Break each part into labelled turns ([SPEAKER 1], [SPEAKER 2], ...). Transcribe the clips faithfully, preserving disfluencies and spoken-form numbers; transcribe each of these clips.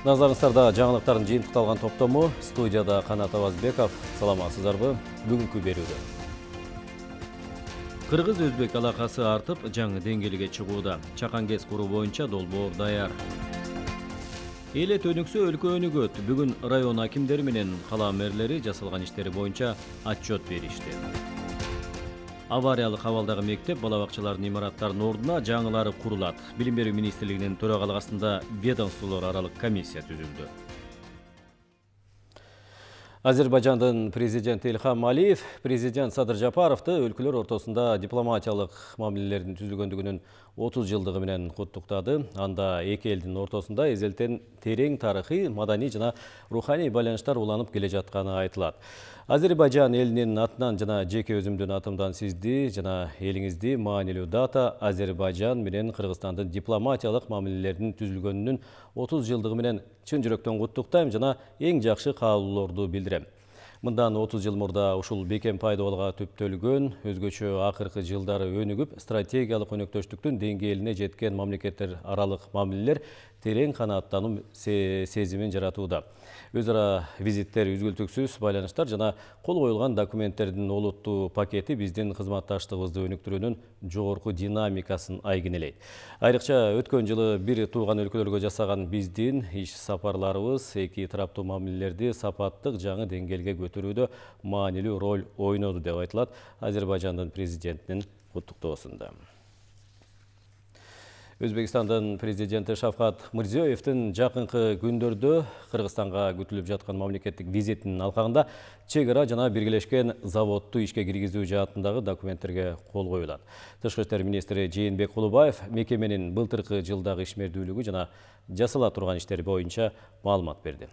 [SPEAKER 1] Назарыңыздарда жаңылыктардын жыйынтыкталган топтому, студияда Канат Абазбеков. Саламатсыздарбы? Бүгүнкү берүүдө Кыргыз-Өзбек алакасы артып, жаңы деңгээлге чыгууда. Чакан КЭС куруу боюнча долбоор даяр. Элет өнүксө өлкө өнүгөт. Бүгүн район акимдери менен кала мэрлери жасалган иштери боюнча отчет беришти. Авариялык абалдагы мектеп балабакчалардын имараттарынын ордуна жаңылары курулат. Билим берүү министрлигинин төрагалыгы астында ведомстволор аралык комиссия түзүлдү. Азербайжандын президенти Илхам Алиев президент Садыр Жапаровду өлкөлөр ортосунда дипломатиялык мамилелердин түзүлгөндүгүнүн отуз жылдыгы менен куттуктады. Анда эки элдин ортосунда эзелтен терең тарыхый, маданий жана руханий байланыштар уланып келе жатканы айтылат. Азербайжан элинин атынан жана жеке өзүмдүн атымдан сизди жана элиңизди маанилүү дата Азербайжан менен Кыргызстандын дипломатиялык мамилелердин түзүлгөнүнүн отуз жылдыгы менен чын жүрөктөн куттуктайм жана эң жакшы каалоолорду билдирем. Мындан отуз жыл мурда ушул бекем пайдубалга түптөлгөн, өзгөчө акыркы жылдары өнүгүп, стратегиялык өнөктөштүктүн деңгээлине жеткен мамлекеттер аралык мамилелер терең канааттануу сезимин жаратууда. Өз ара визиттер, үзгүлтүксүз байланыштар жана кол коюлган документтердин олуттуу пакети биздин кызматташтыгыбызды өнүктүрүүнүн жогорку динамикасын айгинелейт. Айрыкча өткөн жылы бир тууган өлкөлөргө жасаган биздин иш сапарларыбыз эки тараптуу мамилелерди сапаттык жаңы деңгээлге көтөрүүдө маанилүү роль ойноду деп айтылат Азербайжандын президентинин куттуктоосунда. Өзбекстандын президенти Шавкат Мирзиёевдин жакынкы күндөрдө Кыргызстанга күтүлүп жаткан мамлекеттик визитинин алкагында чек ара жана биргелешкен заводду ишке киргизүү жаатындагы документтерге кол коюлат. Тышкы иштер министри Жээнбек Кулубаев мекеменин былтыркы жылдагы ишмердүүлүгү жана жасала турган иштери боюнча маалымат берди.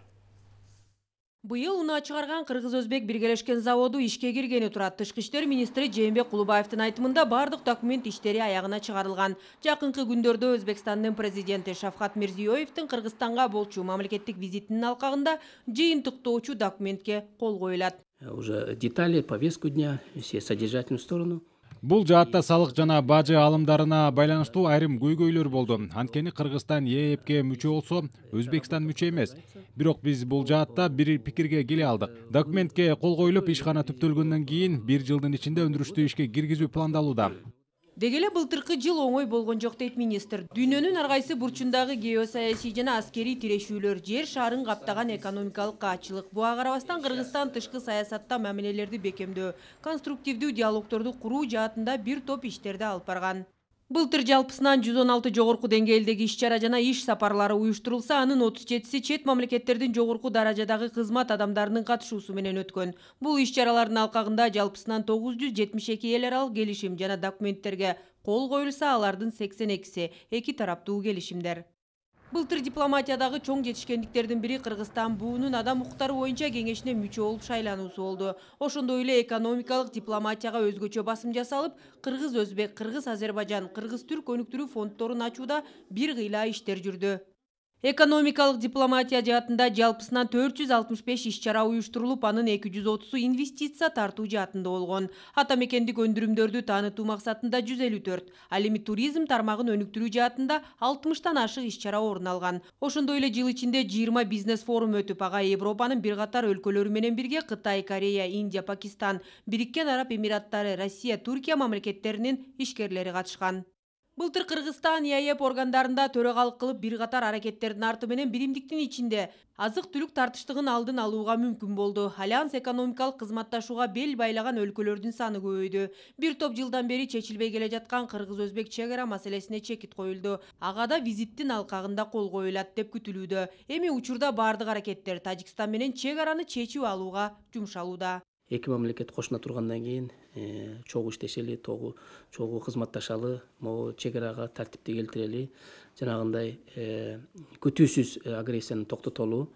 [SPEAKER 2] Быйыл унаа чыгарган Кыргыз-Өзбек биргелешкен заводу ишке киргени турат. Тышкы иштер министри Жээнбек Кулубаевдин айтымында бардык документ иштери аягына чыгарылган. Жакынкы күндөрдө Өзбекстандын президенти Шавкат Мирзиёевдин Кыргызстанга болчу мамлекеттик визитинин алкагында жыйынтыктоочу документке кол коюлат.
[SPEAKER 3] Уже детали, повестку дня, все содержательную сторону.
[SPEAKER 4] Бул жаатта салык жана бажы алымдарына байланыштуу айрым көйгөйлөр болду. Анткени Кыргызстан ЕЭПке мүчө болсо, Өзбекстан мүчө эмес. Бирок биз бул жаатта бир пикирге келе алдык. Документке кол коюлуп, ишкана түптөлгөндөн кийин бир жылдын ичинде өндүрүштү ишке киргизүү пландалууда.
[SPEAKER 2] Деги эле былтыркы жыл оңой болгон жок дейт министр. Дүйнөнүн ар кайсы бурчундагы геосаясий жана аскерий тирешүүлөр, жер шарын каптаган экономикалык каачылык. Буга карабастан Кыргызстан тышкы саясатта мамилелерди бекемдөө, конструктивдүү диалогторду куруу жаатында бир топ иштерди алып барган. Былтыр жалпысынан жүз он алты жогорку деңгээлдеги иш-чара жана иш сапарлары уюштурулса, анын отуз жетиси чет мамлекеттердин жогорку даражадагы кызмат адамдарынын катышуусу менен өткөн. Бул иш-чаралардын алкагында жалпысынан тогуз жүз жетимиш эки эл аралык келишим жана документтерге кол коюлса, алардын сексен экиси эки тараптуу келишимдер. Былтыр дипломатиядагы чоң жетишкендиктердин бири Кыргызстан буунун адам укуктары боюнча кеңешине мүчө болуп шайлануусу болду. Ошондой эле экономикалык дипломатияга өзгөчө басым жасалып, Кыргыз-Өзбек, Кыргыз-Азербайжан, Кыргыз-Түрк өнүктүрүү фонддорун ачууда бир кыйла иштер жүрдү. Экономикалык дипломатия жаатында жалпысынан төрт жүз алтымыш беш иш-чара уюштурулуп, анын эки жүз отузу инвестиция тартуу жаатында болгон. Ата мекендик өндүрүмдөрдү таанытуу максатында жүз элүү төрт, ал эми туризм тармагын өнүктүрүү жаатында алтымыштан ашык иш-чара орун алган. Ошондой эле жыл ичинде жыйырма бизнес форум өтүп, ага Европанын бир катар өлкөлөрү менен бирге Кытай, Корея, Индия, Пакистан, Бириккен Араб Эмираттары, Россия, Түркия мамлекеттеринин ишкерлери катышкан. Былтыр Кыргызстан ЕАЭП органдарында төрагалык кылып, бир катар аракеттердин арты менен биримдиктин ичинде азык-түлүк тартыштыгын алдын алууга мүмкүн болду. Альянс экономикалык кызматташууга бел байлаган өлкөлөрдүн саны көбөйдү. Бир топ жылдан бери чечилбей келе жаткан Кыргыз-Өзбек чек ара маселесине чекит коюлду. Ага да визиттин алкагында кол коюлат деп күтүлүүдө. Эми учурда бардык аракеттер Тажикстан менен чек араны чечип алууга жумшалууда.
[SPEAKER 3] Эки мамлекет кошуна тургандан кийин чогуу иштешели, чогуу кызматташалы, могу чек арага тартипти келтирели, жанагындай күтүүсүз агрессияны токтотолу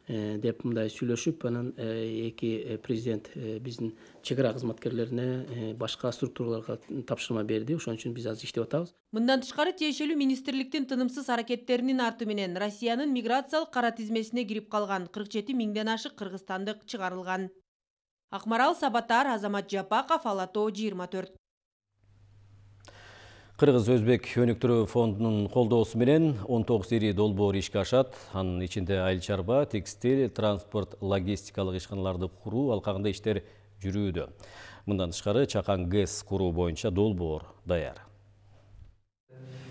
[SPEAKER 3] деп мындай сүйлөшүп, анан эки президент биздин чек ара кызматкерлерине башка структураларга тапшырма берди. Ошон үчүн биз азыр иштеп атабыз.
[SPEAKER 2] Мындан тышкары тиешелүү министрликтин тынымсыз аракеттеринин арты менен Россиянын миграциялык кара тизмесине кирип калган кырк жети миңден ашык кыргызстандык чыгарылган. Акмарал Сабатар, Азамат Жапаков, Ала Тоо жыйырма төрт.
[SPEAKER 1] Кыргыз-Өзбек өнүктүрүү фондунун колдоосу менен он тогуз ири долбоор ишке ашат. Анын ичинде айыл чарба, текстиль, транспорт, логистикалык ишканаларды куруу алкагында иштер жүрүүдө. Мындан тышкары Чакан ГЭС куруу боюнча долбоор даяр.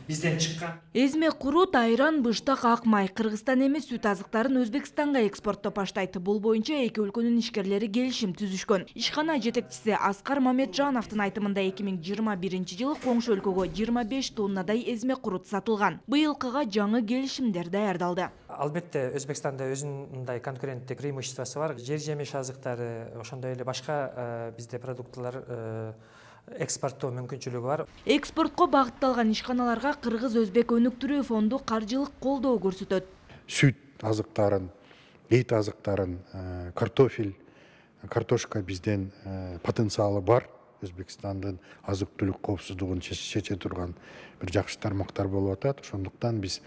[SPEAKER 5] Бизден чыккан
[SPEAKER 6] Эзме курут, айран, быштак, ак май Кыргызстан эмес сүт азыктарын Өзбекстанга экспорттоп баштайт. Бул боюнча эки өлкөнүн ишкерлери келишим түзүшкөн. Ишкана жетекчиси Аскар Мамеджановдун айтымында эки миң жыйырма биринчи жылы коңшу өлкөгө жыйырма беш тоннадай эзме курут сатылган. Быйылкыга жаңы келишимдер даярдалды.
[SPEAKER 5] Албетте Өзбекстанда өзүнүн мындай конкуренттик преимуществосу бар. Жер жемиш азыктары, ошондой эле башка бизде продуктлар экспорттоо мүмкүнчүлүгү бар.
[SPEAKER 6] Экспортко багытталган ишканаларга Кыргыз-Өзбек өнүктүрүү фонду каржылык колдоо көрсөтөт.
[SPEAKER 7] Сүт азыктарын, эт азыктарын, картофель, картошка бизден потенциалы бар. Өзбекстандын азык-түлүк коопсуздугун чече турган бир жакшы тармактар болуп атат. Ошондуктан биз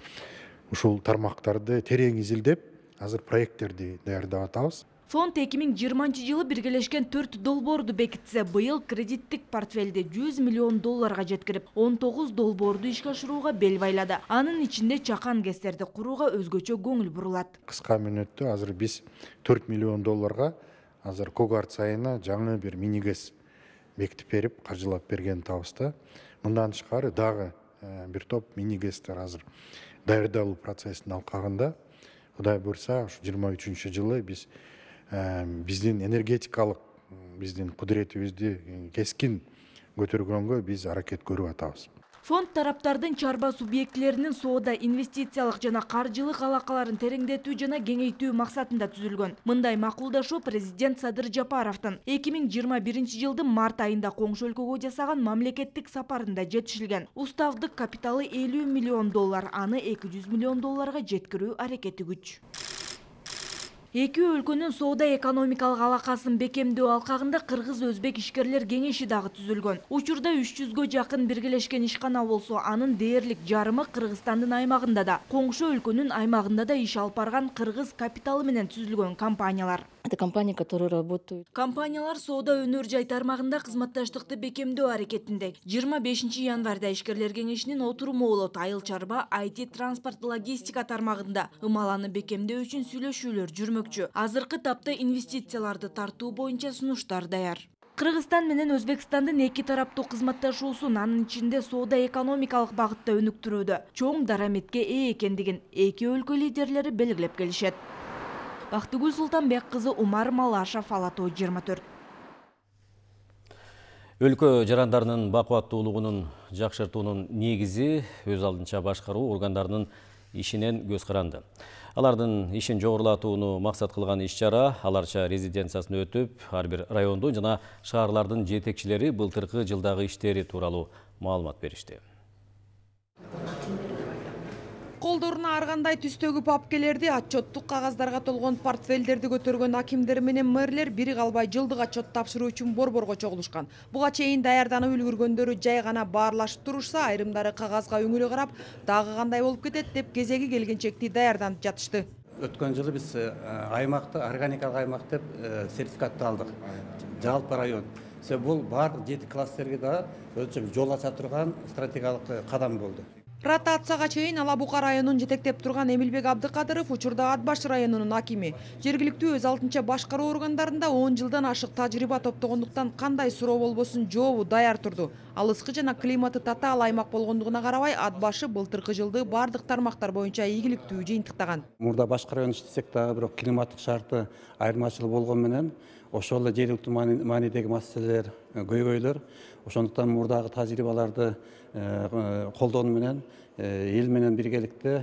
[SPEAKER 7] ушул тармактарды терең изилдеп, азыр проекттерди даярдап атабыз.
[SPEAKER 6] Фонд эки миң жыйырманчы жылы биргелешкен төрт долбоорду бекитсе, быйыл кредиттик портфелди жүз миллион долларга жеткирип, он тогуз долбоорду ишке ашырууга бел байлады. Анын ичинде Чакан ГЭСтерди курууга өзгөчө көңүл бурулат.
[SPEAKER 7] Кыска мүнөттө азыр биз төрт миллион долларга азыр Когарц айына жаңы бир мини ГЭС бекитип берип, каржылап берген табызда. Мындан тышкары дагы бир топ мини ГЭСтер азыр даярдалуу процессинин алкагында. Кудай буйрса, ушу жыйырма үчүнчү жылы биз биздин энергетикалык биздин кудуретибизди кескин көтөргөнгө биз аракет көрүп атабыз.
[SPEAKER 6] Фонд тараптардын чарба субъектилеринин соода, инвестициялык жана каржылык алакаларын тереңдетүү жана кеңейтүү максатында түзүлгөн. Мындай макулдашуу президент Садыр Жапаровдун эки миң жыйырма биринчи жылдын март айында коңшу өлкөгө жасаган мамлекеттик сапарында жетишилген. Уставдык капиталы элүү миллион доллар, аны эки жүз миллион долларга жеткирүү аракети күч. Эки өлкөнүн соода экономикалык алакасын бекемдөө алкагында Кыргыз-Өзбек ишкерлер кеңеши дагы түзүлгөн. Учурда үч жүзгө жакын биргелешкен ишкана болсо, анын дээрлик жарымы Кыргызстандын аймагында да, коңшу өлкөнүн аймагында да иш алып барган кыргыз капиталы менен түзүлгөн компаниялар.
[SPEAKER 8] Это компании, которые работают.
[SPEAKER 6] Компаниялар соода өнөр жай тармагында кызматташтыкты бекемдөө аракетинде. жыйырма бешинчи январда ишкерлер кеңешинин отуруму болот. Айыл чарба, ай ти, транспорт, логистика тармагында ымаланы бекемдөө үчүн сүйлөшүүлөр жүрмөкчү. Азыркы тапта инвестицияларды тартуу боюнча сунуштар даяр. Кыргызстан менен Өзбекстандын эки тараптуу кызматташуусун, анын ичинде соода экономикалык багытта өнүктүрүүдө чоң дараметке ээ экендигин эки өлкө лидерлери белгилеп келишет. Бактыгүл Султанбек кызы, Умар Малашев, Ала Тоо жыйырма төрт.
[SPEAKER 1] Өлкө жарандарынын бакубаттуулугунун жакшыртуунун негизи өз алдынча башкаруу органдарынын ишинен көз каранды. Алардын ишин жогорулатууну максат кылган иш-чара аларча резиденциясына өтүп, ар бир райондун жана шаарлардын жетекчилери былтыркы жылдагы иштери тууралуу маалымат беришти.
[SPEAKER 2] Колдоруна ар кандай түстөгү папкелерди, отчеттук кагаздарга толгон портфелдерди көтөргөн акимдер менен мэрлер бири калбай жылдык отчет тапшыруу үчүн борборго чогулушкан. Буга чейин даярданып үлгүргөндөрү жай гана баарлашып турушса, айрымдары кагазга үңүлө карап, дагы кандай болуп кетет деп кезеги келгенчекти даярданып жатышты.
[SPEAKER 9] Өткөн жылы биз аймакты органикалык аймак деп сертификатты алдык. Жалпы район. Бул бардык жети кластерге да өзүнчө жол ача турган стратегиялык кадам болду.
[SPEAKER 2] Ротацияга чейин Ала Бука районун жетектеп турган Эмилбек Абдыкадыров учурда Ат баш районунун акими. Жергиликтүү өз алдынча башкаруу органдарында он жылдан ашык тажрыйба топтогондуктан кандай суроо болбосун жообу даяр турду. Алыскы жана климаты татаал аймак болгондугуна карабай, Ат башы былтыркы жылды бардык тармактар боюнча ийгиликтүү жыйынтыктаган.
[SPEAKER 9] Мурда башка район иштесек дагы бирок климаттык шарты айырмачылык болгон менен ошол эле жергиликтүү маанидеги маселелер көйгөйлөр. Ошондуктан мурдагы тажрыйбаларды колдонуу менен эл менен биргеликте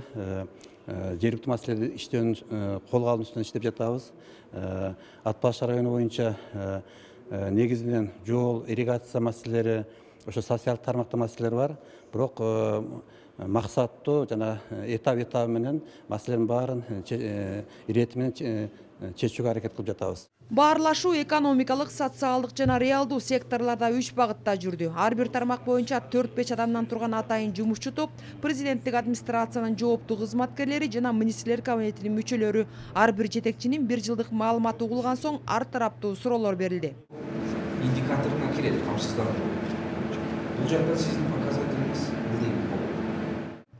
[SPEAKER 9] жергиликтүү маселелерди иштөөнүн колго алуу үстүнөн иштеп жатабыз. Ат баш району боюнча негизинен жол, ирригация маселелери, ошо социалдык тармакта маселелер бар. Бирок максаттуу жана этап этабы менен маселенин баарын ирети менен чечүүгө аракет кылып жатабыз.
[SPEAKER 2] Баарлашуу экономикалык, социалдык жана реалдуу секторларда үч багытта жүрдү. Ар бир тармак боюнча төрт беш адамдан турган атайын жумушчу топ, президенттик администрациянын жооптуу кызматкерлери жана министрлер кабинетинин мүчөлөрү. Ар бир жетекчинин бир жылдык маалыматы угулган соң ар тараптуу суроолор берилди.
[SPEAKER 10] Индикаторуна кирет камсыздануу. Бул жакта сиздин показателиңиз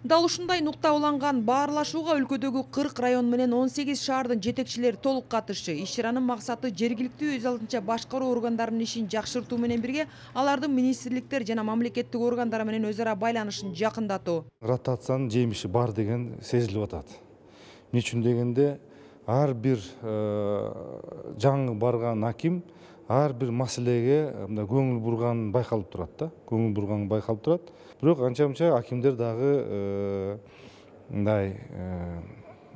[SPEAKER 2] Дал ушундай нукта уланган баарлашууга өлкөдөгү кырк район менен он сегиз шаардын жетекчилери толук катышты. Иш чаранын максаты жергиликтүү өз алдынча башкаруу органдарынын ишин жакшыртуу менен бирге алардын министрликтер жана мамлекеттик органдар менен өз ара байланышын жакындатуу.
[SPEAKER 10] Ротациянын жемиши бар деген сезилип атат. Эмне үчүн дегенде ар бир жаңы барган аким ар бир маселеге мындай көңүл бурган байкалып турат да. Көңүл бурган байкалып турат. Бирок анча-мынча акимдер дагы мындай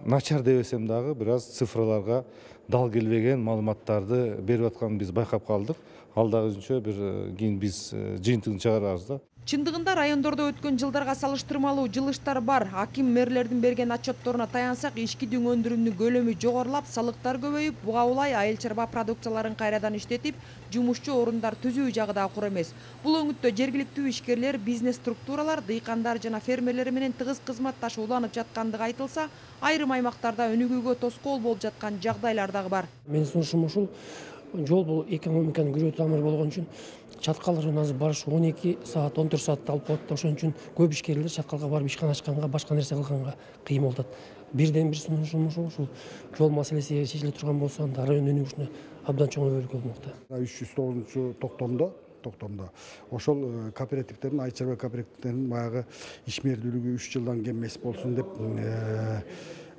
[SPEAKER 10] начар дебесем дагы бир аз цифраларга дал келбеген маалыматтарды берип атканын биз байкап калдык. Ал дагы өзүнчө бир кийин биз жыйынтыгын чыгарабыз да.
[SPEAKER 2] Чындыгында райондордо өткөн жылдарга салыштырмалуу жылыштар бар. Аким мэрлердин берген отчетторуна таянсак, ички дүң өндүрүүнүн көлөмү жогорулап, салыктар көбөйүп, буга улай айыл чарба продукцияларын кайрадан иштетип, жумушчу орундар түзүү жагы да кур эмес. Бул өңүттө жергиликтүү ишкерлер, бизнес структуралар, дыйкандар жана фермерлер менен тыгыз кызматташып уланып жаткандыгы айтылса, айрым аймактарда өнүгүүгө тоскоол болуп жаткан жагдайлар дагы бар.
[SPEAKER 11] Менин сунушум ушул. Жол бул экономиканын күрөө тамыры болгон үчүн чаткалардан азыр барыш он эки саат, он төрт саатты алып коет. Ошон үчүн көп ишкерлер чаткалга барып ишкана ачканга, башка нерсе кылганга кыйын болуп атат. Бирден бир сунушум ушул, ушул жол маселеси чечиле турган болсо, анда район өнүгүшүнө абдан чоң өбөлгө болмокта.
[SPEAKER 12] үч жүз тогузунчу токтомдо токтомдо ошол кооперативтердин, айыл чарба кооперативтердин баягы ишмердүүлүгү үч жылдан кем эмес болсун деп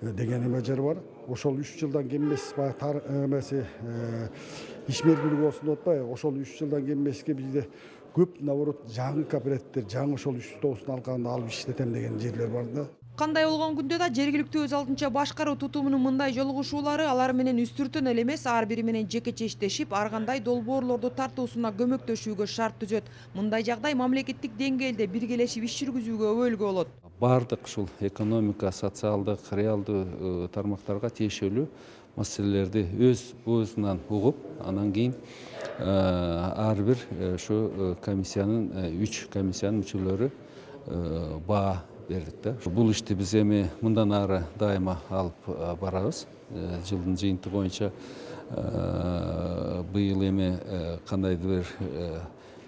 [SPEAKER 12] деген эме жер бар. Ошол үч жылдан кем эмес баягы эмеси ишмердүүлүк болсун деп атпайбы? Ошол үч жылдан кем эмеске бизде көп наоборот жаңы кооперативдер, жаңы ошол үч жүз тогузун алганда алып иштетем деген жерлер бар да.
[SPEAKER 2] Кандай болгон күндө да жергиликтүү өз алдынча башкаруу тутумунун мындай жолугушуулары алар менен үстүртөн эле эмес, ар бири менен жекече иштешип, ар кандай долбоорлорду тартуусуна көмөктөшүүгө шарт түзөт. Мындай жагдай мамлекеттик деңгээлде биргелешип иш жүргүзүүгө өбөлгө болот.
[SPEAKER 13] Бардык ушул экономика, социалдык, реалдуу тармактарга тиешелүү маселелерди өз өзүнөн угуп, анан кийин ар бир ушу комиссиянын үч комиссиянын мүчөлөрү баа бердик да. Бул ишти биз эми мындан ары дайыма алып барабыз. Жылдын жыйынтыгы боюнча быйыл эми кандайдыр бир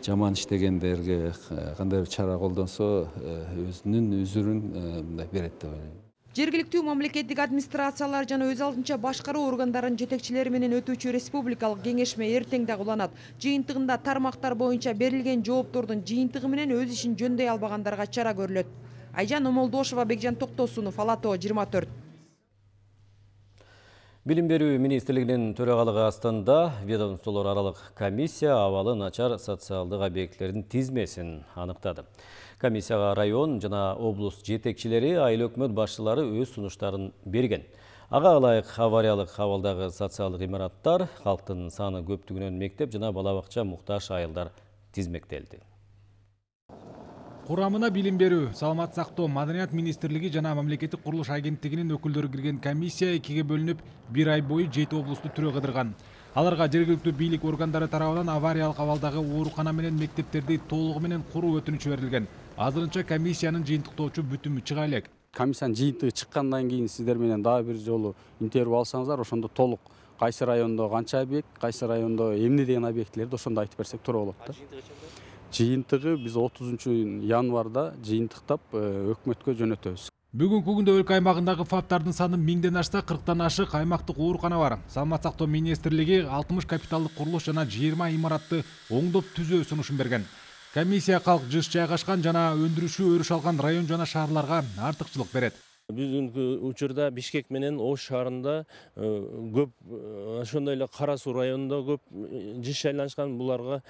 [SPEAKER 13] жаман иштегендерге кандай бир чара колдонсо, өзүнүн үзүрүн мындай берет деп ойлойм.
[SPEAKER 2] Жергиликтүү мамлекеттик администрациялар жана өз алдынча башкаруу органдарынын жетекчилери менен өтүүчү республикалык кеңешме эртең дагы уланат. Жыйынтыгында тармактар боюнча берилген жооптордун жыйынтыгы менен өз ишин жөндөй албагандарга чара көрүлөт. Айжан Омолдошова, Бекжан Токтосунов, Ала-Тоо жыйырма төрт.
[SPEAKER 1] Билим берүү министрлигинин төрагалыгы астында ведомстволор аралык комиссия абалы начар социалдык объектилердин тизмесин аныктады. Комиссияга район жана облус жетекчилери, айыл өкмөт башчылары өз сунуштарын берген. Ага ылайык авариялык абалдагы социалдык имараттар, калктын саны көптүгүнөн мектеп жана бала бакча муктаж айылдар тизмектелди.
[SPEAKER 4] Курамына билим берүү, саламат сактоо, маданият министрлиги жана мамлекеттик курулуш агенттигинин өкүлдөрү кирген комиссия экиге бөлүнүп, бир ай бою жети облусту түрө кыдырган. Аларга жергиликтүү бийлик органдары тарабынан авариялык абалдагы оорукана менен мектептерди толугу менен куруу өтүнүчү берилген. Азырынча комиссиянын жыйынтыктоочу бүтүмү чыга элек.
[SPEAKER 14] Комиссиянын жыйынтыгы чыккандан кийин сиздер менен дагы бир жолу интервью алсаңыздар, ошондо толук кайсы райондо канча объект, кайсы райондо эмне деген объектилерди ошондо айтып берсек туура болот да. Жыйынтыгы биз отузунчу январда жыйынтыктап өкмөткө жөнөтөбүз.
[SPEAKER 4] Бүгүнкү күндө өлкө аймагындагы фаптардын саны миңден ашса, кырктан ашык аймактык оорукана бар. Саламат сактоо министрлиги алтымыш капиталдык курулуш жана жыйырма имаратты оңдоп түзөө сунушун берген. Комиссия калк жыш жайгашкан жана өндүрүшү өрүш алган район жана шаарларга артыкчылык берет.
[SPEAKER 15] Бүгүнкү учурда Бишкек менен Ош шаарында көп, ошондой эле Кара Суу районунда көп жыш айланышкан, буларга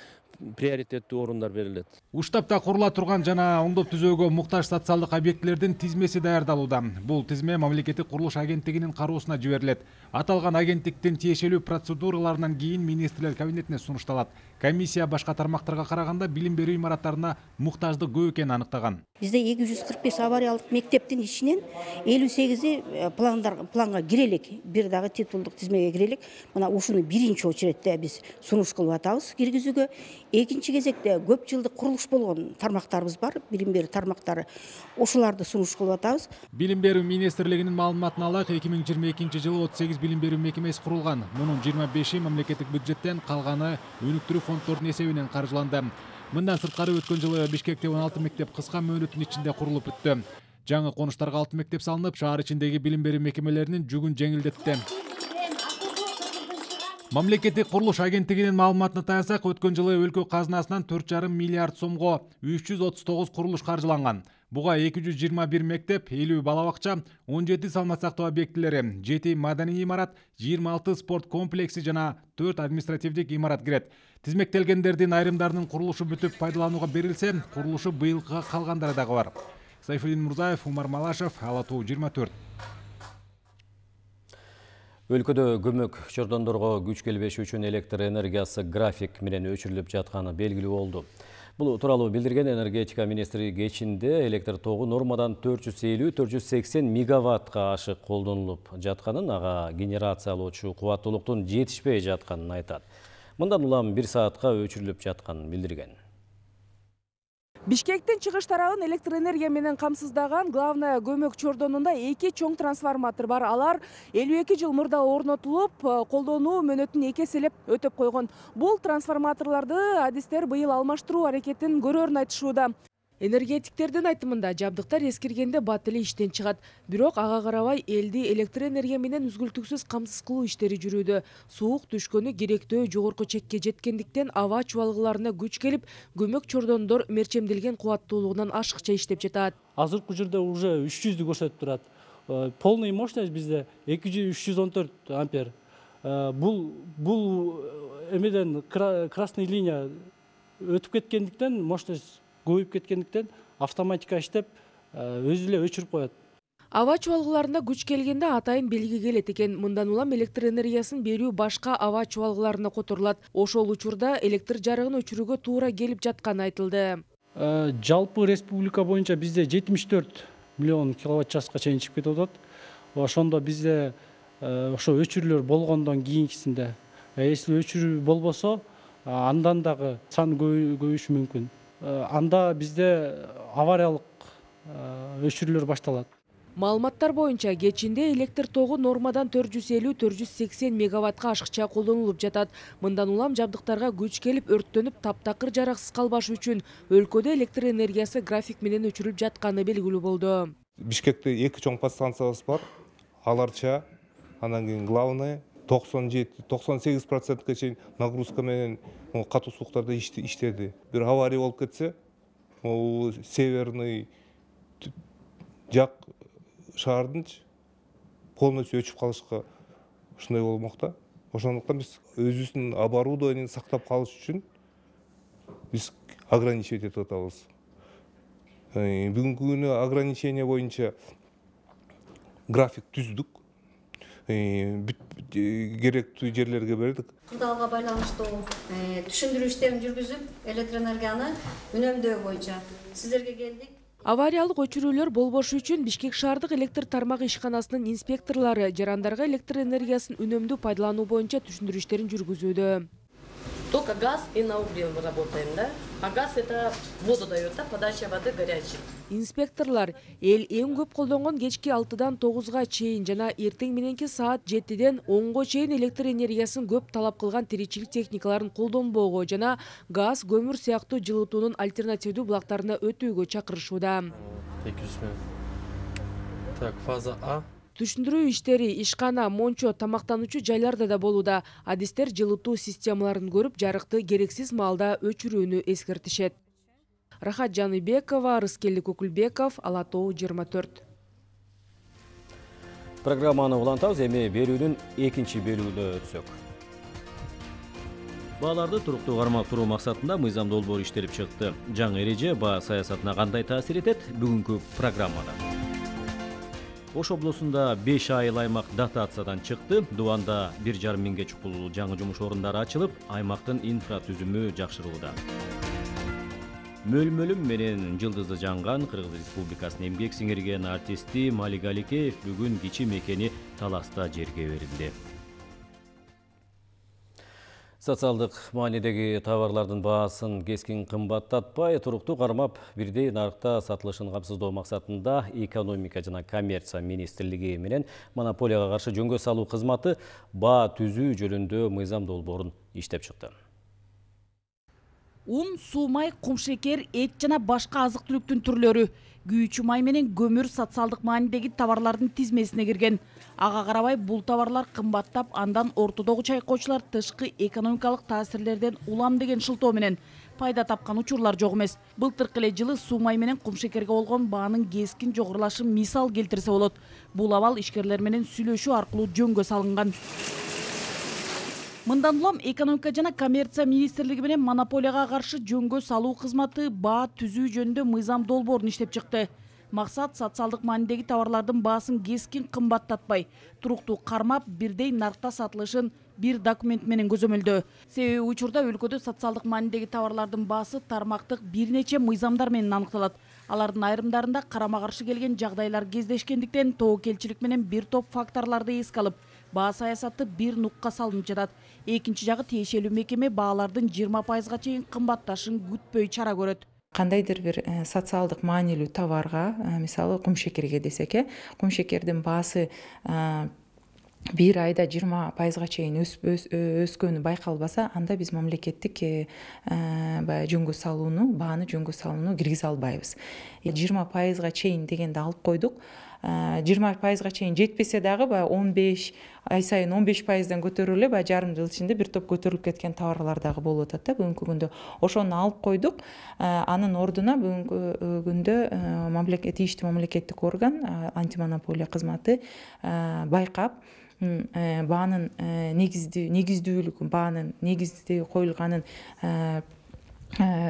[SPEAKER 15] приоритеттүү орундар берилет.
[SPEAKER 4] Уштапта курула турган жана оңдоп түзөөгө муктаж социалдык объектилердин тизмеси даярдалууда. Бул тизме мамлекеттик курулуш агенттигинин кароосуна жиберилет. Аталган агенттиктин тиешелүү процедураларынан кийин министрлер кабинетине сунушталат. Комиссия башка тармактарга караганда билим берүү имараттарына муктаждык көп экенин аныктаган.
[SPEAKER 16] Бизде эки жүз кырк беш авариялык мектептин ичинен элүү сегизи планга кире элек, бир дагы титулдук тизмеге кире элек. Мына ушуну биринчи очередде биз сунуш кылып атабыз киргизүүгө. Экинчи кезекте көп жылдык курулуш болгон тармактарыбыз бар, билим берүү тармактары. Ошолорду сунуш кылып атабыз.
[SPEAKER 4] Билим берүү министрлигинин маалыматына алайык, эки миң жыйырма экинчи жылы отуз сегиз билим берүү мекемеси курулган. Мунун жыйырма беши мамлекеттик бюджеттен, калганы өнүктүрүү фонддордун эсебинен каржыланды. Мындан сырткары өткөн жылы Бишкекте он алты мектеп кыска мөөнөттүн ичинде курулуп бүттү. Жаңы конуштарга алты мектеп салынып, шаар ичиндеги билим берүү мекемелеринин жүгүн жеңилдетти. Мамлекеттик курулуш агенттигинин маалыматына таянсак, өткөн жылы өлкө казынасынан төрт жарым миллиард сомго үч жүз отуз тогуз курулуш каржыланган. Буга эки жүз жыйырма бир мектеп, элүү бала бакча, он жети салмак сактоо объектилери, жети маданий имарат, жыйырма алты спорт комплекси жана төрт административдик имарат кирет. Тизмектелгендердин айрымдарынын курулушу бүтүп пайдаланууга берилсе, курулушу быйылга калгандары дагы бар. Сайфулдин Мурзаев, Умар Малашев, Ала Тоо жыйырма төрт.
[SPEAKER 1] Өлкөдө көмөк чордондорго күч келбеши үчүн электр энергиясы график менен өчүрүлүп жатканы белгилүү болду. Бул тууралуу билдирген энергетика министри кечинде электр тогу нормадан төрт жүз элүү — төрт жүз сексен мегаваттка ашык колдонулуп жатканын, ага генерациялоочу кубаттуулуктун жетишпей жатканын айтат. Мындан улам бир саатка өчүрүлүп жатканын билдирген.
[SPEAKER 17] Бишкектин чыгыш тарабын электр энергия менен камсыздаган главная көмөк чордонунда эки чоң трансформатор бар. Алар элүү эки жыл мурда орнотулуп, колдонуу мөөнөтүн эки эселеп өтөп койгон. Бул трансформаторлорду адистер быйыл алмаштыруу аракетин көрөрүн айтышууда. Энергетиктердин айтымында жабдыктар эскиргенде бат эле иштен чыгат. Бирок ага карабай элди электр энергия менен үзгүлтүксүз камсыз кылуу иштери жүрүүдө. Суук түшкөнү керектөө жогорку чекке жеткендиктен аба чубалгыларына күч келип, көмөк чордондор мерчемделген кубаттуулугунан ашыкча иштеп жатат.
[SPEAKER 18] Азыркы учурда уже үч жүздү көрсөтүп турат. Полный мощность бизде эки жүз — үч жүз он төрт ампер. Бул бул эмеден красный линия өтүп кеткендиктен, мощность көбөйүп кеткендиктен автоматика иштеп өзү эле өчүрүп коет.
[SPEAKER 17] Аба чубалгыларына күч келгенде атайын белги келет экен. Мындан улам электр энергиясын берүү башка аба чубалгыларына которулат. Ошол учурда электр жарыгын өчүрүүгө туура келип жатканы айтылды.
[SPEAKER 18] Жалпы республика боюнча бизде жетимиш төрт миллион киловатт часка чейин чыгып кетип атат. Ошондо бизде ошо өчүрүүлөр болгондон кийинкисинде, если өчүрүү болбосо, андан дагы сан көбөйүшү мүмкүн. Анда бизде авариялык өчүрүүлөр башталат.
[SPEAKER 17] Маалыматтар боюнча кечинде электр тогу нормадан төрт жүз элүү — төрт жүз сексен мегаваттка ашыкча колдонулуп жатат. Мындан улам жабдыктарга күч келип, өрттөнүп, таптакыр жараксыз калбаш үчүн өлкөдө электр энергиясы график менен өчүрүлүп жатканы белгилүү болду.
[SPEAKER 19] Бишкекте эки чоң подстанциябыз бар. Аларча, анан кийин главный токсон жети — токсон сегиз процентке чейин нагрузка менен катуу сууктарда иштеди. Бир авария болуп кетсе, могу северный жак шаардын полностью өчүп калышка ушундай болмокта. Ошондуктан биз өзүбүздүн оборудованиени сактап калыш үчүн биз ограничивать этип атабыз. Бүгүнкү күнү ограничение боюнча график түздүк. Керектүү жерлерге бердик.
[SPEAKER 8] Кырдаалга байланыштуу түшүндүрүү иштерин жүргүзүп, электр энергияны үнөмдөө боюнча сиздерге келдик.
[SPEAKER 17] Авариялык өчүрүүлөр болбошу үчүн Бишкек шаардык электр тармагы ишканасынын инспекторлору жарандарга электр энергиясын үнөмдүү пайдалануу боюнча түшүндүрүү иштерин жүргүзүүдө.
[SPEAKER 20] Только газ и на угле работаем, да? А газ это воду дает, да? Подача воды горячей.
[SPEAKER 17] Инспекторлор эл эң көп колдонгон кечки алтыдан тогузга чейин жана эртең мененки саат жетиден онго чейин электр энергиясын көп талап кылган тиричилик техникаларын колдонбоого жана газ, көмүр сыяктуу жылытуунун альтернативдүү булактарына өтүүгө чакырышууда.
[SPEAKER 21] эки жүз миң. Так, фаза А.
[SPEAKER 17] Түшүндүрүү иштери ишкана, мончо, тамактануучу жайларда да болууда. Адистер жылытуу системаларын көрүп, жарыкты керексиз маалда өчүрүүнү эскертишет. Рахат Жаныбекова, Рыскелди Көкүлбеков, Ала Тоо жыйырма төрт.
[SPEAKER 1] Программаны улантабыз, эми берүүнүн экинчи бөлүгүнө өтсөк. Бааларды туруктуу кармактыруу максатында мыйзам долбоору иштелип чыкты. Жаңы эреже баа саясатына кандай таасир этет? Бүгүнкү программада. Ош облусунда беш айыл аймак дотациядан чыкты. Дубанда бир жарым миңге чукул жаңы жумуш орундары ачылып, аймактын инфратүзүмү жакшырууда. Мөлмөлүм менен жылдызы жанган Кыргыз Республикасынын эмгек сиңирген артисти Малик Аликеев бүгүн кичи мекени Таласта жерге берилди. Социалдык маанидеги товарлардын баасын кескин кымбаттатпай, туруктуу кармап, бирдей нарыкта сатылышын камсыздоо максатында экономика жана коммерция министрлиги менен монополияга каршы жөнгө салуу кызматы баа түзүү жөнүндө мыйзам долбоорун иштеп чыкты.
[SPEAKER 6] Un, суу май, кум шекер, эт жана башка азык-түлүктүн түрлөрү күйүүчү май менен көмүр социалдык маанидеги товарлардын тизмесине кирген. Ага карабай бул товарлар кымбаттап, андан ортодогу чайкоочулар тышкы экономикалык таасирлерден улам деген шылтоо менен пайда тапкан учурлар жок эмес. Былтыркы эле жылы суу май менен кум шекерге болгон баанын кескин жогорулашын мисал келтирсе болот. Бул абал ишкерлер менен сүйлөшүү аркылуу жөнгө салынган. Мындан улам экономика жана коммерция министрлиги менен монополияга каршы жөнгө салуу кызматы баа түзүү жөнүндө мыйзам долбоорун иштеп чыкты. Максат социалдык маанидеги товарлардын баасын кескин кымбаттатпай, туруктуу кармап, бирдей наркта сатылышын бир документ менен көзөмөлдөө. Себеби учурда өлкөдө социалдык маанидеги товарлардын баасы тармактык бир нече мыйзамдар менен аныкталат. Алардын айрымдарында карама-каршы келген жагдайлар кездешкендиктен тобокелчилик менен бир топ факторлорду эске алып, баа саясаты бир нукка салынып жатат. Экинчи жагы тиешелүү мекеме баалардын жыйырма пайызга чейин кымбатташын күтпөй чара көрөт.
[SPEAKER 3] Кандайдыр бир социалдык маанилүү товарга, мисалы кум шекерге десек, кум шекердин баасы бир айда жыйырма пайызга чейин өскөнү байкалбаса, анда биз мамлекеттик баягы жөнгө салууну, бааны жөнгө салууну киргизе албайбыз. жыйырма пайызга чейин дегенди алып койдук. жыйырма пайызга чейин жетпесе дагы баягы он беш ай сайын он беш пайыздан көтөрүлүп эле баягы жарым жыл ичинде бир топ көтөрүлүп кеткен товарлар дагы болуп атат да бүгүнкү күндө. Ошону алып койдук. Анын ордуна бүгүнкү күндө мамлекет тийиштүү мамлекеттик орган, антимонополия кызматы байкап, баанын негиздүү негиздүүлүгүн, баанын негизди коюлганын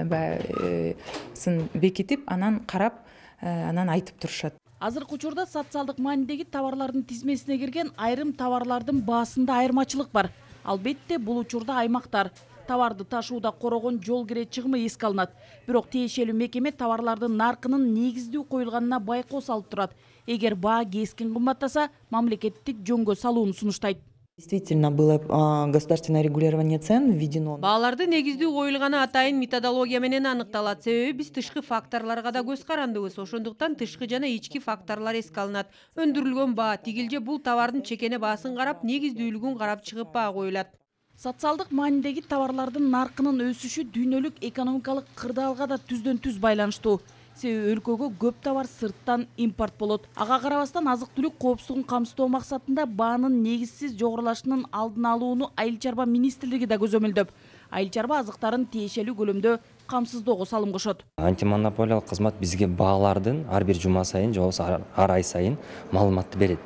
[SPEAKER 3] баягысын бекитип, анан карап, анан айтып турушат.
[SPEAKER 6] Азыркы учурда социалдык маанидеги товарлардын тизмесине кирген айрым товарлардын баасында айырмачылык бар. Албетте, бул учурда аймактар товарды ташууда корогон жол кире чыгымы эске алынат. Бирок тиешелүү мекеме товарлардын наркынын негиздүү коюлганына байкоо салып турат. Эгер баа кескин кымбаттаса, мамлекеттик жөнгө салууну сунуштайт.
[SPEAKER 22] Действительно, было государственное регулирование цен введено.
[SPEAKER 2] Бааларды негиздүү коюлганы атайын методология менен аныкталат. Себеби биз тышкы факторлорго да көз карандыбыз. Ошондуктан тышкы жана ички факторлор эске алынат. Өндүрүлгөн баа, тигилже бул товардын чекене баасын карап, негиздүүлүгүн карап чыгып баа коюлат.
[SPEAKER 6] Социалдык маанидеги товарлардын наркынын өсүшү дүйнөлүк экономикалык кырдаалга да түздөн түз байланыштуу. Себеби өлкөгө көп товар сырттан импорт болот. Ага карабастан азык-түлүк коопсуздугун камсыздоо максатында баанын негизсиз жогорулашынын алдын алууну Айыл чарба министрлиги да көзөмөлдөп, айыл чарба азыктарын тиешелүү көлөмдө камсыздоого салым кошот.
[SPEAKER 23] Антимонополиялык кызмат бизге баалардын ар бир жума сайын, же болбосо ар ай сайын маалыматты берет.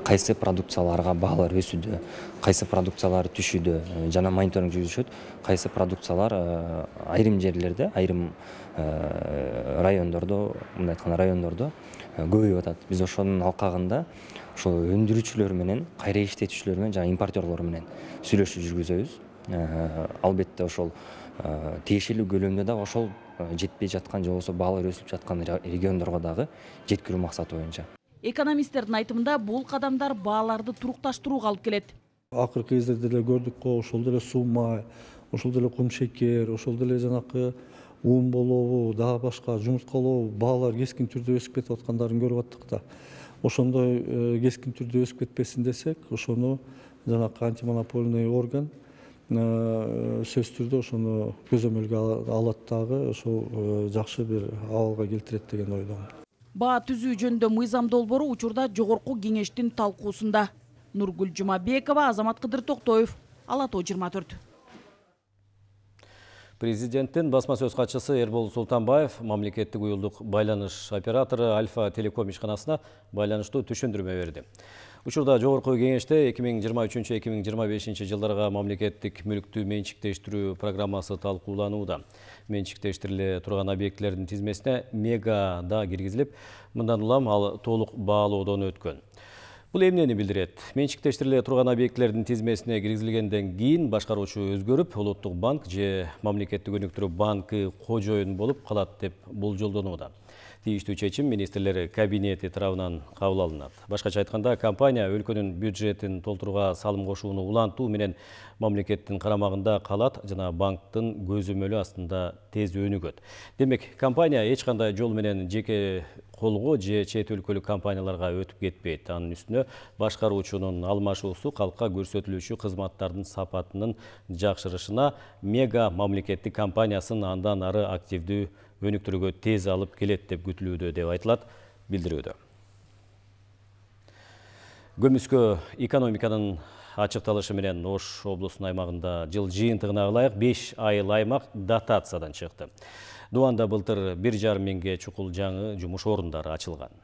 [SPEAKER 23] Кайсы продукцияларга баалар өсүүдө, кайсы продукциялар түшүүдө жана мониторинг жүргүзүшөт. Кайсы продукциялар айрым жерлерде, айрым райондордо, мындай айтканда райондордо көбөйүп атат. Биз ошонун алкагында ошол өндүрүүчүлөр менен, кайра иштетүүчүлөр менен жана импортерлор менен сүйлөшүү жүргүзөбүз. Албетте ошол тиешелүү көлөмдө да ошол жетпей жаткан, же болбосо баалар өсүп жаткан региондорго дагы жеткирүү максаты боюнча.
[SPEAKER 6] Экономисттердин айтымында бул кадамдар бааларды турукташтырууга алып келет.
[SPEAKER 24] Акыркы кездерде деле көрдүк го, ошол деле суу май, ошол деле кум шекер, ошол деле жанакы ун болобу, дагы башка жумурткалоо баалар кескин түрдө өсүп кетип аткандарын көрүп аттык да. Ошондой кескин түрдө өсүп кетпесин десек, ошону жанакы антимонопольный орган сөзсүз түрдө ошону көзөмөлгө алат дагы, ошол жакшы бир абалга келтирет деген ойдомун.
[SPEAKER 6] Баа түзүү жөнүндө мыйзам долбоору учурда жогорку кеңештин талкуусунда. Нургүл Жумабекова, Азамат Кыдыр Токтоев, Ала тоо жыйырма төрт.
[SPEAKER 1] Президенттин басма сөз катчысы Эрбол Султанбаев мамлекеттик уюлдук байланыш оператору Альфа Телеком ишканасына байланыштуу түшүндүрмө берди. Учурда жогорку кеңеште эки миң жыйырма үчүнчү эки миң жыйырма бешинчи жылдарга мамлекеттик мүлктү менчиктештирүү программасы талкууланууда. Менчиктештириле турган объектилердин тизмесине мега да киргизилип, мындан улам ал толук баалоодон өткөн. Бул эмнени билдирет? Менчиктештириле турган объектилердин тизмесине киргизилгенден кийин башкаруучу өзгөрүп, Улуттук банк же мамлекеттик өнүктүрүү банкы кожоюн болуп калат деп болжолдонууда. Тийиштүү чечим министрлер кабинети тарабынан кабыл алынат. Башкача айтканда, компания өлкөнүн бюджетин толтурууга салым кошууну улантуу менен мамлекеттин карамагында калат жана банктын көзөмөлү астында тез өнүгөт. Демек, компания эч кандай жол менен жеке колго же чет өлкөлүк компанияларга өтүп кетпейт. Анын үстүнө башкаруучунун алмашуусу калкка көрсөтүлүүчү кызматтардын сапатынын жакшырышына, мега мамлекеттик компаниясын андан ары активдүү өнүктүрүүгө тез алып келет деп күтүлүүдө деп айтылат билдирүүдө. Көмүскө экономиканын ачыкталышы менен Ош облусунун аймагында жыл жыйынтыгына ылайык беш айыл аймак дотациядан чыкты. Дуанда былтыр бир жарым миңге чукул жаңы жумуш орундары ачылган.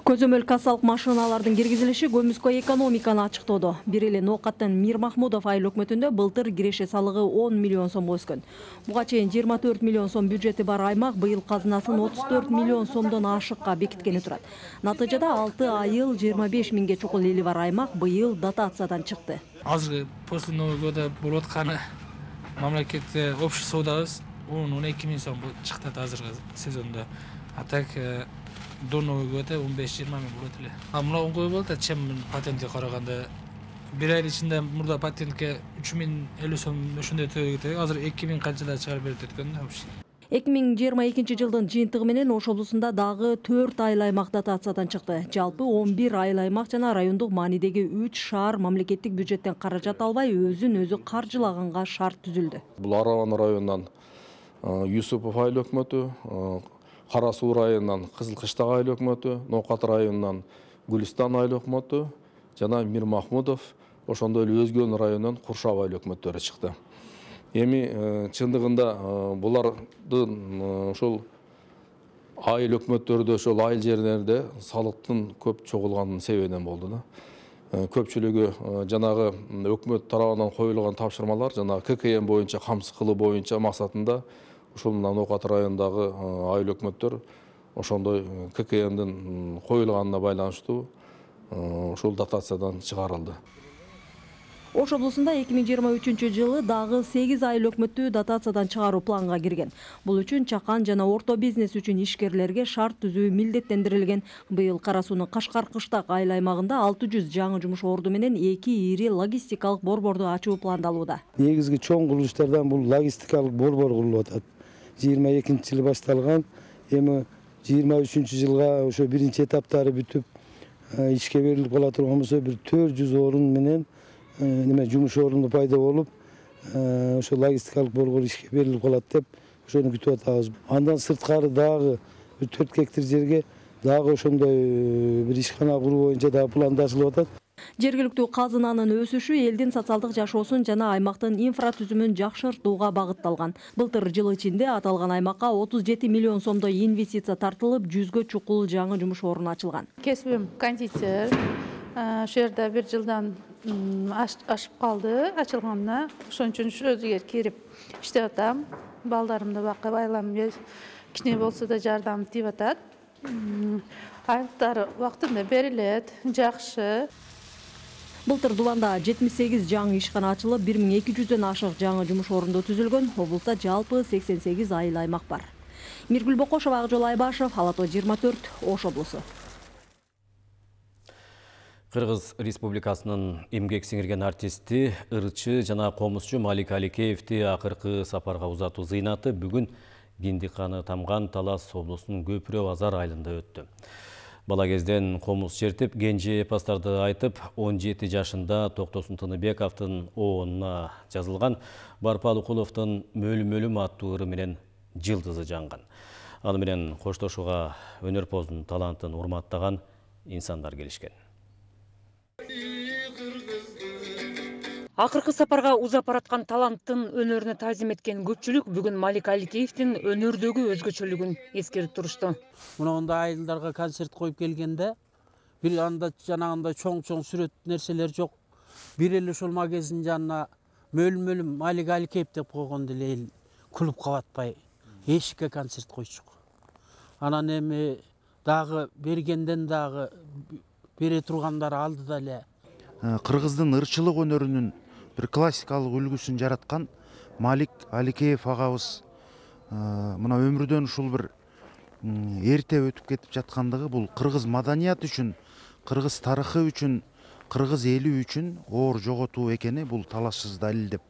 [SPEAKER 5] Көзөмөл кассалык машиналардын киргизилиши Көмүскө экономиканы ачыктоодо. Бир эле Ноокаттын Мир Махмудов айыл өкмөтүндө былтыр киреше салыгы он миллион сомго өскөн. Буга чейин жыйырма төрт миллион сом бюджети бар аймак быйыл казынасын отуз төрт миллион сомдон ашыкка бекиткени турат. Натыйжада алты айыл жыйырма беш миңге чукул эли бар аймак быйыл дотациядан чыкты.
[SPEAKER 7] Азыр после Нового года болуп атканы мамлекетте общий соодабыз он эки миң сом чыкты азыркы сезондо. А так до Нового года он беш жыйырма миң болот эле. А мына оңой болот, чем патентке караганда. Бир ай ичинде мурда патентке үч миң элүү сом ошондой төлөйт. Азыр эки миң канчада чыгарып берет экен да вообще.
[SPEAKER 5] эки миң жыйырма экинчи жылдын жыйынтыгы менен Ош облусунда дагы төрт айыл аймак дотациядан чыкты. Жалпы он бир айыл аймак жана райондук маанидеги үч шаар мамлекеттик бюджеттен каражат албай өзүн өзү каржылаганга шарт түзүлдү.
[SPEAKER 9] Бул Араван районунан Юсупов айыл өкмөтү, Кара Суу районунан Кызыл Кыштак айыл өкмөтү, Ноокат районунан Гүлистан айыл өкмөтү жана Мир Махмудов, ошондой эле Өзгөн районунан Куршап айыл өкмөттөрү чыкты. Эми чындыгында булардын ошол айыл өкмөттөрдө, ошол айыл жерлерде салыктын көп чогулганын себебинен болду да. Көпчүлүгү жанагы өкмөт тарабынан коюлган тапшырмалар жана К К М боюнча камсыз кылуу боюнча максатында ушул Ноокат районундагы айыл өкмөттөр ошондой К К Мдин коюлганына байланыштуу ушул дотациядан чыгарылды.
[SPEAKER 5] Ош облусунда эки миң жыйырма үчүнчү жылы дагы сегиз айыл өкмөттү дотациядан чыгаруу планга кирген. Бул үчүн чакан жана орто бизнес үчүн ишкерлерге шарт түзүү милдеттендирилген. Быйыл Кара Суунун Кашкар Кыштак айыл аймагында алты жүз жаңы жумуш орду менен эки ири логистикалык борборду ачуу пландалууда.
[SPEAKER 10] Негизги чоң курулуштардан бул логистикалык борбор курулуп атат. жыйырма экинчи жылы башталган. Эми жыйырма үчүнчү жылга ошо биринчи этаптары бүтүп ишке берилип кала турган болсо бир төрт жүз орун менен неме жумуш орунду пайда болуп, ошо логистикалык борбор ишке берилип калат деп ошону күтүп атабыз. Андан сырткары дагы бир төрт гектар жерге дагы ошондой бир ишкана куруу боюнча дагы пландашылып атат.
[SPEAKER 5] Жергиликтүү казынанын өсүшү элдин социалдык жашоосун жана аймактын инфратүзүмүн жакшыртууга багытталган. Былтыр жыл ичинде аталган аймакка отуз жети миллион сомдой инвестиция тартылып, жүзгө чукул жаңы жумуш орну ачылган.
[SPEAKER 25] Кесибим кондитер. Ошол жерде бир жылдан ашып калды ачылганына. Ошон үчүн ошол жерге кирип иштеп атам. Балдарымды бакып, айлам кичине болсо да жардам тийип атат. Айлыктар убактында берилет, жакшы.
[SPEAKER 5] Былтыр Дубанда жетимиш сегиз жаңы ишкана ачылып, бир миң эки жүздөн ашык жаңы жумуш орунду түзүлгөн. Облуста жалпы сексен сегиз айыл аймак бар. Миргүл Бокошова, Акжол Айбашев, Ала Тоо жыйырма төрт, Ош облусу.
[SPEAKER 1] Кыргыз Республикасынын эмгек сиңирген артисти, ырчы жана комузчу Малик Аликеевди акыркы сапарга узатуу зыйнаты бүгүн Киндиканы тамган Талас облусунун Көпүрө Базар айылында өттү. Бала кезден комуз чертип, кенже эпостарды айтып, он жети жашында Токтосун Тыныбековдун оонуна жазылган Барпалыкуловдун Мөлүм-мөлүм аттуу ыры менен жылдызы жанган. Аны менен коштошууга өнөрпоздун талантын урматтаган инсандар келишкен.
[SPEAKER 26] Акыркы сапарга узап бараткан таланттын өнөрүнө таазим эткен көпчүлүк бүгүн Малик Аликеевдин өнөрдөгү өзгөчөлүгүн эскерип турушту.
[SPEAKER 27] Мындай айылдарга концерт коюп келгенде бир анда жанагындай чоң-чоң сүрөт нерселер жок. Бир эле ушул магазин жанына Мөлүм-мөлүм Малик Аликеев деп койгон деле эл күлүп кабатпай эшикке концерт койчук. Анан эми дагы бергенден дагы бере тургандар алдыда эле
[SPEAKER 28] Кыргыздын ырчылык өнөрүнүн бир классикалык үлгүсүн жараткан Малик Аликеев агабыз мына өмүрдөн ушул бир эрте өтүп кетип жаткандыгы бул кыргыз маданияты үчүн, кыргыз тарыхы үчүн, кыргыз эли үчүн оор жоготуу экени бул талашсыз далил деп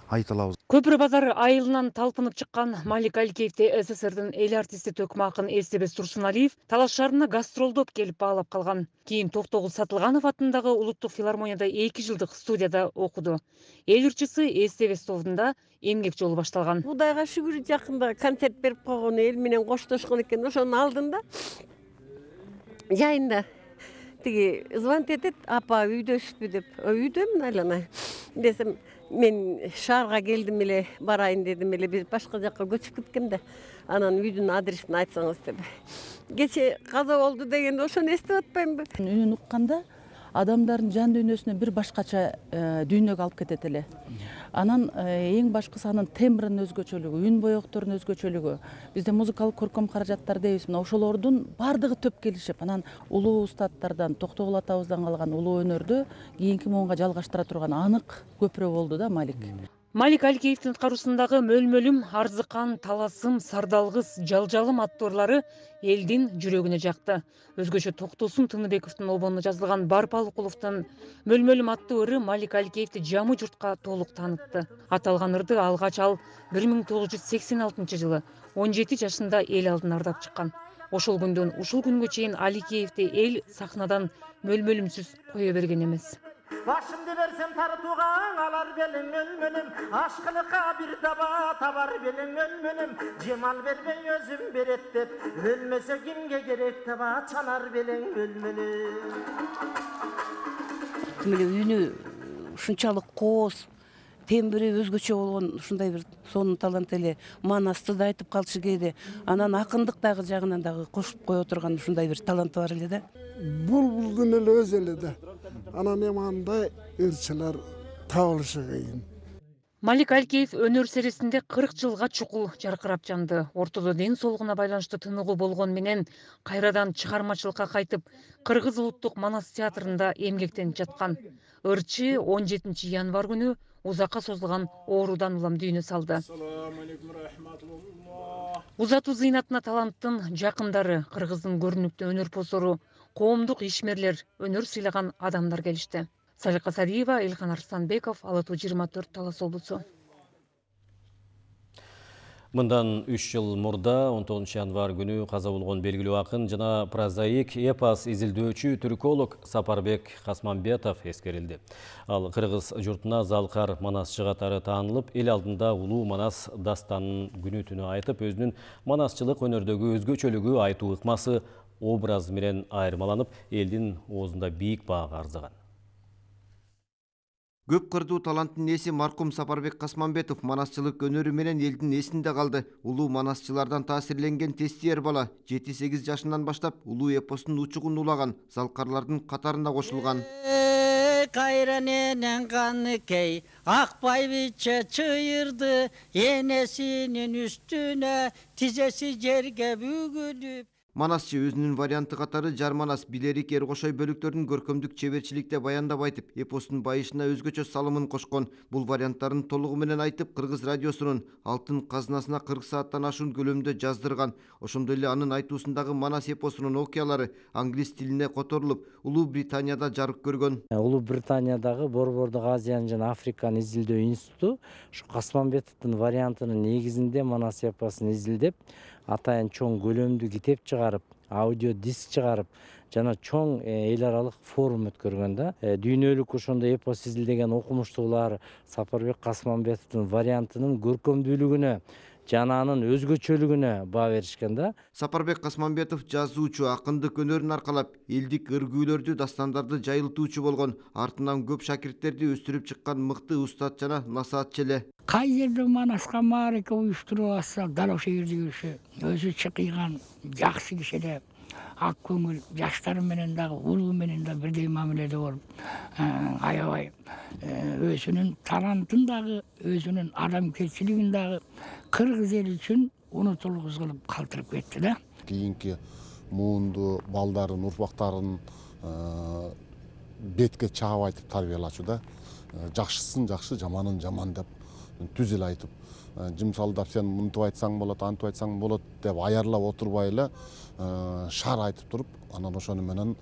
[SPEAKER 28] айта алабыз.
[SPEAKER 26] Көпүрө базар айылынан талпынып чыккан Малик Аликеевди СССРдин эл артисти төкмө акын Эстебес Турсуналиев талаш шаарына гастролдоп келип баалап калган. Кийин Токтогул Сатылганов атындагы Улуттук филармонияда эки жылдык студияда окуду. Эл ырчысы Эстебес тобунда эмгек жолу башталган.
[SPEAKER 4] Кудайга шүгүр, жакында концерт берип койгон, эл менен коштошкон экен. Ошонун алдында жайында тиги звонить этет, апа үйдөсүзбү деп. Үйдөмүн айлана десем, мен шаарга келдим эле, барайын дедим эле, биз башка жакка көчүп кеткем да. Анан үйдүн адресин айтсаңыз деп. Кече каза болду дегенде ошону эстеп атпаймынбы?
[SPEAKER 11] Үнүн укканда адамдардын жан дүйнөсүнө бир башкача дүйнөгө алып кетет эле. Анан эң башкысы анын тембринин өзгөчөлүгү, үн боекторунун өзгөчөлүгү. Бизде музыкалык көркөм каражаттар дейбиз. Мына ошолордун бардыгы төп келишип, анан улуу устаттардан, Токтогул атабыздан калган улуу өнөрдү кийинки муунга жалгаштыра турган анык көпүрө болду да Малик.
[SPEAKER 26] Малик Аликеевдин кароосундагы Мөлмөлүм, Арзыкан, Таласым, Сардалгыс, Жалжалым аттоорлору элдин жүрөгүнө жакты. Өзгөчө Токтосун Тыныбековдун обонуна жазылган Барпал Укуловдун Мөлмөлүм аттуу ыры Малик Аликеевди жамы журтка толук таанытты. Аталган ырды алгач ал бир миң тогуз жүз сексен алтынчы жылы он жети жашында эл алдына ырдап чыккан. Ошол күндөн ушул күнгө чейин Аликеевди эл сахнадан мөлмөлүмсүз кое берген эмес.
[SPEAKER 12] Башымды берсем тарытууга алар белең мөлмөлүм, ашкылыкка бир таба табар белең мөлмөлүм, жемал бербей өзүм берет деп, өлмөсө кимге керек таба чанар белең мөлмөлүм.
[SPEAKER 13] Мына үнү ушунчалык кооз, тембри өзгөчө болгон ушундай бир сонун талант эле. Манасты да айтып калчу кээде. Анан акындык дагы жагынан дагы кошуп кое турган ушундай бир таланты бар эле да.
[SPEAKER 14] Булбулдун эле өзү эле да. Анан эми андай ырчылар табылышы кыйын.
[SPEAKER 26] Малик Аликеев өнөр серисинде кырк жылга чукул жаркырап жанды. Ортодо ден соолугуна байланыштуу тыныгуу болгон менен кайрадан чыгармачылыкка кайтып, Кыргыз улуттук Манас театрында эмгектенип жаткан. Ырчы он жетинчи январь күнү узакка созулган оорудан улам дүйнө салды. Узатуу зыйнатына таланттын жакындары, Кыргыздын көрүнүктүү өнөрпоздору, коомдук ишмерлер, өнөр сыйлаган адамдар келишти. Салика Сариева, Илхан Арстанбеков, Ала тоо жыйырма төрт, Талас облусу.
[SPEAKER 1] Мындан үч жыл мурда он тогузунчу январь күнү каза болгон белгилүү акын жана прозаик, эпос изилдөөчү, түрколог Сапарбек Касмамбетов эскерилди. Ал кыргыз журтуна залкар манасчы катары таанылып, эл алдында улуу Манас дастанын күнү түнү айтып, өзүнүн манасчылык өнөрдөгү өзгөчөлүгү, айтуу ыкмасы, образ менен айырмаланып, элдин оозунда бийик баага арзыган.
[SPEAKER 15] Көп кырдуу таланттын ээси маркум Сапарбек Касмамбетов манасчылык өнөрү менен элдин эсинде калды. Улуу манасчылардан таасирленген тестиер бала жети сегиз жашынан баштап улуу эпостун учугун улаган, залкарлардын катарына кошулган.
[SPEAKER 16] Кайраненен каныкей акпай биче чыйырды, энесинин үстүнө тизеси жерге бүгүлүп.
[SPEAKER 15] Манасчы өзүнүн варианты катары Жарманас, Билерик, Эркошой бөлүктөрүн көркөмдүк чеберчиликте баяндап айтып, эпостун байышына өзгөчө салымын кошкон. Бул варианттарын толугу менен айтып, Кыргыз радиосунун алтын казынасына кырк сааттан ашуун көлөмдө жаздырган. Ошондой эле анын айтуусундагы Манас эпосунун окуялары англис тилине которулуп, Улуу Британияда жарык көргөн.
[SPEAKER 18] Улуу Британиядагы Борбордук Азияны жана Африканы изилдөө институту ушу Касмамбетовдун вариантынын негизинде Манас эпосун изилдеп, атайын чоң көлөмдүү китеп чыгарып, аудио диск чыгарып, жана чоң эл аралык форум өткөргөн да. Дүйнөлүк ошондой эпос изилдеген окумуштуулар Сапарбек Касмамбетовдун вариантынын көркөмдүүлүгүнө жана анын өзгөчөлүгүнө баа беришкен да.
[SPEAKER 15] Сапарбек Касмамбетов жазуучу, акындык өнөрүн аркалап, элдик ыргүүлөрдү, дастандарды жайылтуучу болгон, артынан көп шакирттерди өстүрүп чыккан мыкты устат жана насаатчы эле.
[SPEAKER 29] Кай жерде Манаска маарика уюштуруп атса, дал ошол жерде жүрүшү, өзү чыкыйган жакшы киши эле, ак көңүл, жаштар менен дагы, улуу менен да бирдей мамиледе болуп, аябай өзүнүн талантын дагы, өзүнүн адамгерчилигин дагы кыргыз эли үчүн унутулгуз кылып калтырып кетти да.
[SPEAKER 30] Кийинки муунду балдарын, урпактарын бетке чаап айтып тарбиялачу да. Жакшысын жакшы, жаманын жаман деп түз эле айтып жымсалдап сен мынтип айтсаң болот, антип айтсаң болот деп аярлап отурбай эле шаар айтып туруп, анан ошону менен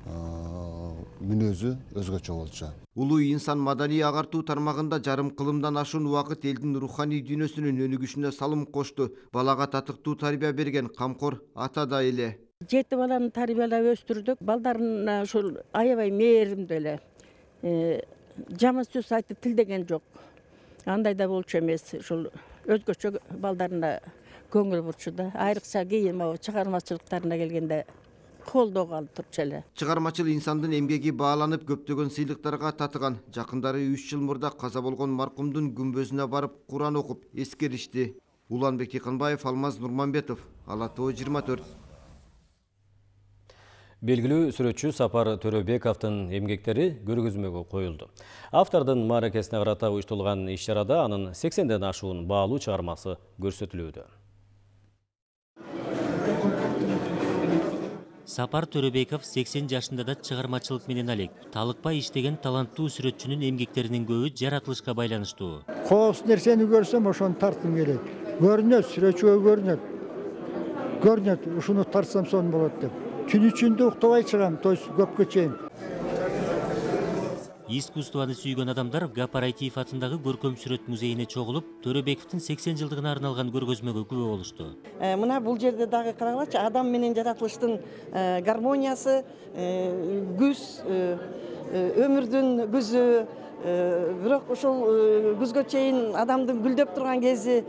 [SPEAKER 30] мүнөзү өзгөчө болчу.
[SPEAKER 15] Улуу инсан маданий агартуу тармагында жарым кылымдан ашуун убакыт элдин руханий дүйнөсүнүн өнүгүшүнө салым кошту. Балага татыктуу тарбия берген камкор ата да эле.
[SPEAKER 2] Жети баланы тарбиялап өстүрдүк. Балдарына ушул аябай мээримдүү эле. Жаман сөз айтып тилдеген жок. Андай да болчу эмес. Ушул өзгөчө балдарына көңүл бурчу да. Айрыкча кийин чыгармачылыктарына келгенде колдоого алып турчу эле.
[SPEAKER 15] Чыгармачыл инсандын эмгеги бааланып көптөгөн сыйлыктарга татыган. Жакындары үч жыл мурда каза болгон маркумдун күмбөзүнө барып Куран окуп эскеришти. Уланбек Тиканбаев, Алмаз Нурманбетов, Ала Тоо жыйырма төрт.
[SPEAKER 1] Белгилүү сүрөтчү Сапар Төрөбековдун эмгектери көргөзмөгө коюлду. Автордун мааракесине карата уюштурулган иш-чарада анын сексенден ашуун баалуу чыгармасы көрсөтүлүүдө.
[SPEAKER 3] Сапар Төрөбеков сексен жашында да чыгармачылык менен алек. Талыкпай иштеген таланттуу сүрөтчүнүн эмгектеринин көбү жаратылышка байланыштуу.
[SPEAKER 8] Коос нерсени көрсөм ошону тарткым келет. Көрүнөт, сүрөтчүгө көрүнөт. Көрүнөт, ушуну тартсам сон болот деп. Түн ичинде уктабай чыгам, то есть көпкө чейин.
[SPEAKER 3] Искусствону сүйгөн адамдар Гапарайтиев атындагы көркөм сүрөт музейине чогулуп, Төрөбековдун сексен жылдыгына арналган көргөзмөгө күбө болушту.
[SPEAKER 17] Мына бул жерде дагы карагылачы, адам менен жаратылыштын гармониясы, күз, өмүрдүн күзү, бирок ушул күзгө чейин адамдын гүлдөп турган кези,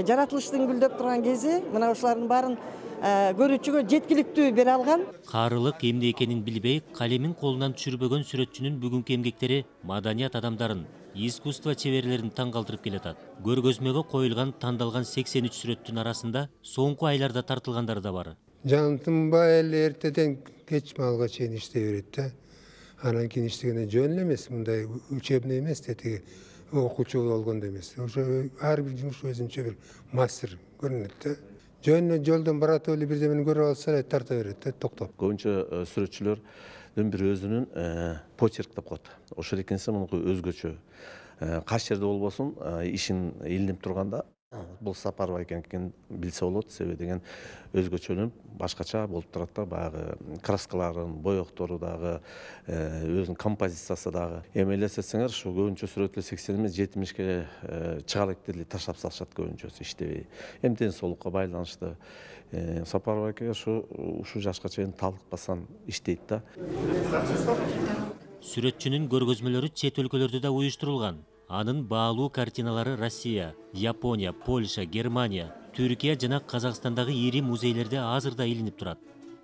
[SPEAKER 17] жаратылыштын гүлдөп турган кези, мына ушулардын баарын көрүүчүгө жеткиликтүү бере алган.
[SPEAKER 3] Карылык эмне экенин билбей, калемин колунан түшүрбөгөн сүрөтчүнүн бүгүнкү эмгектери маданият адамдарын, искусство чеберлерин таң калтырып келатат. Көргөзмөгө коюлган тандалган сексен үч сүрөттүн арасында соңку айларда тартылгандар да бар.
[SPEAKER 19] Жантынбай эле эртеден кеч малга чейин иштей берет да. Анан кийин иштегенде жөн эле эмес, мындай учебный эмес, тетиги окуучу болгондо эмес. Ошо ар бир жумуш өзүнчө бир мастер көрүнөт да. Жөн жолдон барат эле бирдемени көрүп алса эле тарта берет да, токтоп.
[SPEAKER 20] Көбүнчө сүрөтчүлөрдүн бир өзүнүн почерк деп коет. Ошол экенсе мунуку өзгөчө. Кайсы жерде болбосун, ишин илинип турганда бул Сапарова экенин билсе болот, себеби деген өзгөчөлүнүп, башкача болуп турат да, баягы краскаларын, боектору дагы, өзүнүн композициясы дагы. Эми элестетсеңер, ушу көбүнчө сүрөтлөр сексен эмес жетимишке чыга элек деле таштап салышат көбүнчөсү иштебей. Эми ден соолукка байланыштуу. Сапарова эке ушу ушу жашка чейин талыкпастан иштейт да.
[SPEAKER 3] Сүрөтчүнүн көргөзмөлөрү чет өлкөлөрдө да уюштурулган. Анын баалуу картиналары Россия, Япония, Польша, Германия, Түркия жана Казакстандагы ири музейлерде азырда илинип турат.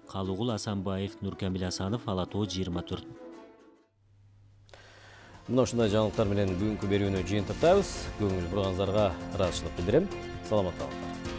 [SPEAKER 3] Калыгул Асанбаев, Нуркамил Асанов, Ала Тоо жыйырма төрт.
[SPEAKER 1] Мына ушундай жаңылыктар менен бүгүнкү берүүнү жыйынтыктайбыз. Көңүл бурганыңыздарга ыраазычылык билдирем. Саламатта калыңыздар.